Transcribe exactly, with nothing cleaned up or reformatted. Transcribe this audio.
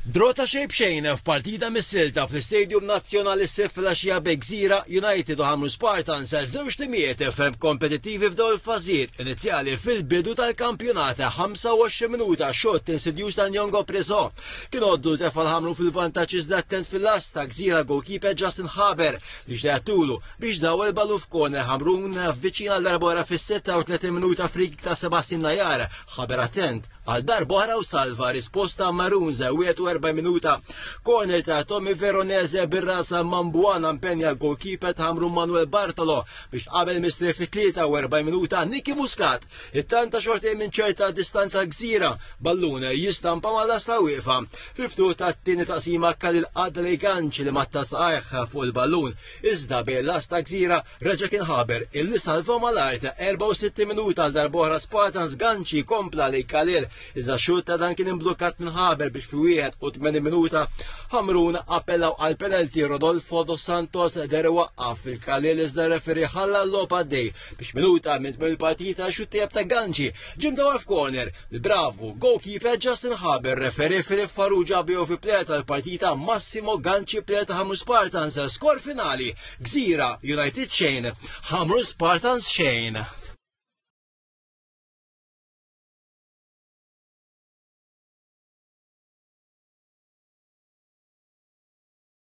Draw ta' xejn b'xejn f'partita mis-silta fl-Istadium Nazzjonali s-Sibt filgħaxija bejn Gżira United u Ħamrun Spartans, żewġ timijiet ferm kompetittivi f'dawn il-fażijiet inizjali fil-bidu tal-kampjonat. ħamsa u għoxrin minuta, shot insidjuż ta' Nyongo Preso kien għoddu tefa' l-Ħamrun fil-vantaġġ, iżda attent fil-lasta Gżira goalkeeper Justin Haber li xtaqtulu biex daw il-ballu f'corner. Ħamrun viċin għal darb'oħra fis-sitta u tletin minuta, free ta' Sebastian Najar. Haber attent għal darb'oħra u salva. Risposta Maroons, wieħed u erbgħin minuta. Corner ta' Tommy Veronese, bir-ras Mambuana impenja l-goalkeeper ta' Ħamrun Manuel Bartolo, biex qabel mistrieħ fit-tlieta u erbgħin minuta Nicky Muscat ittanta xorti minn ċerta distanza Gżira, ballun jistampa mal-lasta wieqfa. Fil-ftuħ ta' tieni taqsima Kalil Adley Ganċi li matta saqajh fuq il-ballun, iżda bil-lasta Gżira reġa' kien Haber illi salva mal-art. erbgħa u sittin minuta, għal darb'oħra Spartans, Ganċi kompla li Kalil, iżda xutt ta' dan kien imblukkat minn Haber, biex fi wieħed u tmenin minuta Ħamrun appellaw għal penalty. Rodolfo dos Santos deher waqqaf il-Kalil, iżda referee ħalla l-logħob għaddej, biex minuta minn tmiem il-partita xutt ta' Ganċi ġie mdawwar f'corner. Bravo goalkeeper Justin Haber. Referee Filip Farrugia B O V player tal-partita Massimo Ganċi, player ta' Ħamrun Spartans. Skor finali: Gżira United xejn, Ħamrun Spartans xejn.